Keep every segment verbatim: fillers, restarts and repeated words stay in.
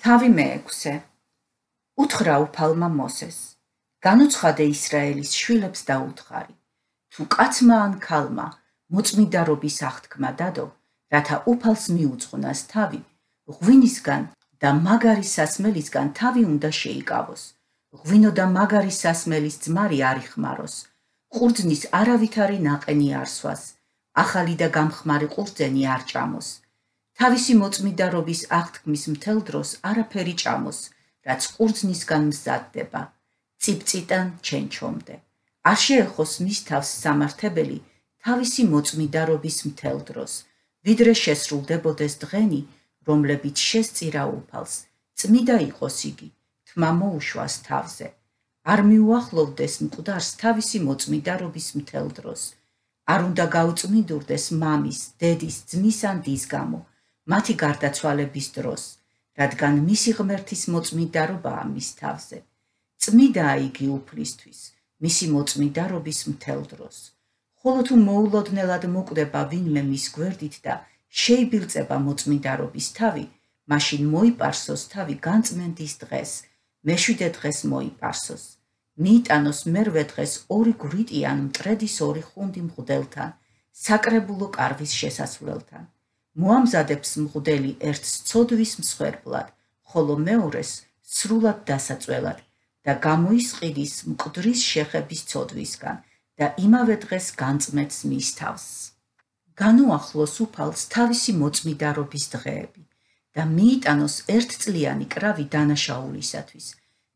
თავი მეექვსე. უთხრა უფალმა მოსეს. განუცხადე ისრაელის შვილებს და უთხარი. თუ კაცმა ან ქალმა მოწმიდარობის აღთქმა დადო, რათა უფალს მიუძღვნას თავი, ღვინისგან და მაგარი სასმელისგან თავი უნდა შეიკავოს. ღვინო და მაგარი სასმელის ძმარი არ იხმაროს. ყურძნის არავითარი ნაყენი არ სვას. ახალი და გამხმარი ყურძენი არ ჭამოს. თავისი მოწმიდარობის აღთქმის მთელ დროს არაფერი ჭამოს, რაც ყურძნისგან მზადდება, წიფწიტან ჩენჩომდე. არ შეეხოს მის თავს სამართებელი თავისი მოწმიდარობის მთელ დროს, ვიდრე შესრულდებოდეს დღენი, რომლებიც შესწირა უფალს, წმიდა იყოს იგი, თმა მოუშვას თავზე. არ მიუახლოვდეს მკვდარს თავისი მოწმიდარობის მთელ დროს. არ უნდა გაუწმიდურდეს მამის, დედის, ძმის ან დის გამო, მათი გარდაცვალების დროს, რადგან მისი ღმერთის მოწმიდარობაა მის თავზე. წმიდაა იგი უფლისთვის, მისი მოწმიდარობის მთელ დროს. ხოლო თუ მოულოდნელად მოკვდება ვინმე მის გვერდით და შეიბილწება მოწმიდარობის თავი, მაშინ მოიპარსოს თავი განწმენდის დღეს, მეშვიდე დღეს მოიპარსოს. მიიტანოს მერვე დღეს ორი გვრიტი ან მტრედის ორი ხუნდი მღვდელთან, საკრებულო კარვის შესასვლელთან. მოამზადებს მღვდელი ერთს ცოდვის მსხვერპლად, ხოლო მეორეს სრულად დასაწველად და გამოისყიდის მკვდრის შეხების ცოდვისგან და იმავე დღეს განწმენს მის თავს. განუახლოს უფალს თავისი მოწმიდარობის დღეები და მიიტანოს ერთწლიანი კრავი დანაშაულისათვის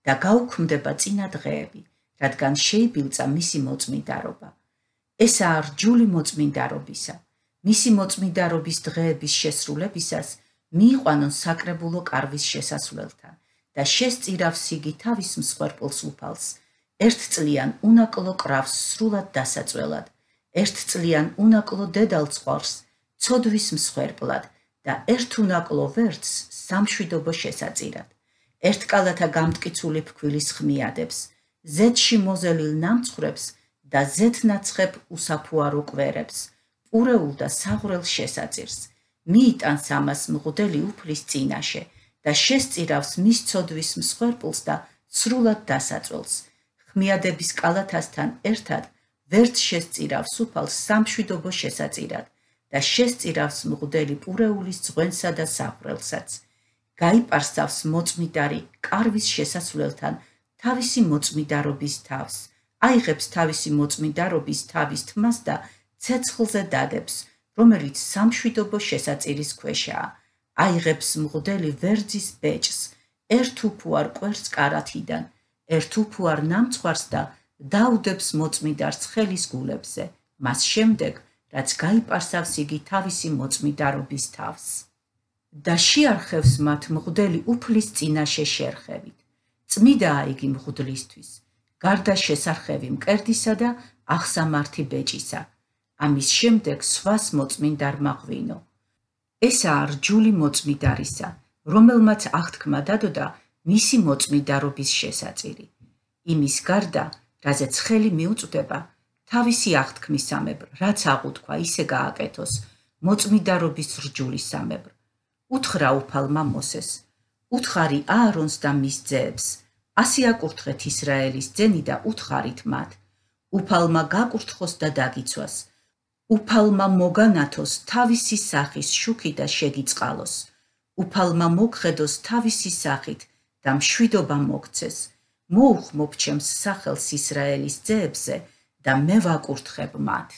და გაუქმდება წინა დღეები, რადგან შეიბილწა მისი მოწმიდარობა. ესაა რჯული მოწმიდარობისა. მისი მოწმიდარობის დღეების შესრულებისას მიიყვანონ საკრებულო კარვის შესასვლელთან და შესწირავს იგი თავის მსხვერპლს უფალს, ერთწლიან უნაკლო კრავს სრულად დასაწველად, ერთწლიან უნაკლო დედალწყვალს ცოდვის მსხვერპლად და ერთ უნაკლო ვერცხს სამშვიდობო შესაწირად. ერთკალათა გამტკიცული ფქვილის ხმიადებს, ზეთში მოზელილ ნამცხრებს და ზეთნაცხებ უსაფუარო კვერებს, პურეულ და საღვრელ შესაწირს. მიიტანს ამას მღვდელი უფლის წინაშე და შესწირავს მის ცოდვის მსხვერპლს და სრულად დასაწველს. ხმიადების კალათასთან ერთად ვერც შესწირავს უფალს სამშვიდობო შესაწირად და შესწირავს მღვდელი პურეულის ძღვენსა და საღვრელსაც. გაიპარსავს მოწმიდარი კარვის შესასვლელთან თავისი მოწმიდარობის თავს, აიღებს თავისი მოწმიდარობის თავის თმას და ცეცხლზე დადებს, რომელიც სამშვიდობო შესაწირის ქვეშაა. აიღებს მღვდელი ვერძის ბეჭს, ერთ უფუარ კვერს კარათიდან, ერთ უფუარ ნამცხვარს და დაუდებს მოწმიდარს ხელის გულებზე, მას შემდეგ, რაც გაიპარსავს იგი თავისი მოწმიდარობის თავს. და შეარხევს მათ მღვდელი უფლის წინაშე შერხევით. წმიდაა იგი მღვდლისთვის, გარდა შესარხევი მკერდისა და აღსამართი ბეჭისა. ამის შემდეგ სვას მოწმინდარმა ღვინო. ესაა რჯული მოწმიდარისა, რომელმაც აღთქმა დადოდა მისი მოწმიდარობის შესაწირი. იმის გარდა, რაზეც ხელი მიუწვდება, თავისი აღთქმისამებრ, რაც აღუთქვა, ისე გააკეთოს მოწმიდარობის რჯულისამებრ. უთხრა უფალმა მოსეს. უთხარი აარონს და მის ძეებს. ასე აკურთხეთ ისრაელის ძენი და უთხარით მათ. უფალმა გაკურთხოს და დაგიცვას. უფალმა მოგანათოს თავისი სახის შუქი და შეგიწყალოს. უფალმა მოგხედოს თავისი სახით და მშვიდობა მოგცეს. მოუხმობ ჩემს სახელს ისრაელის ძეებზე და მე ვაკურთხებ მათ.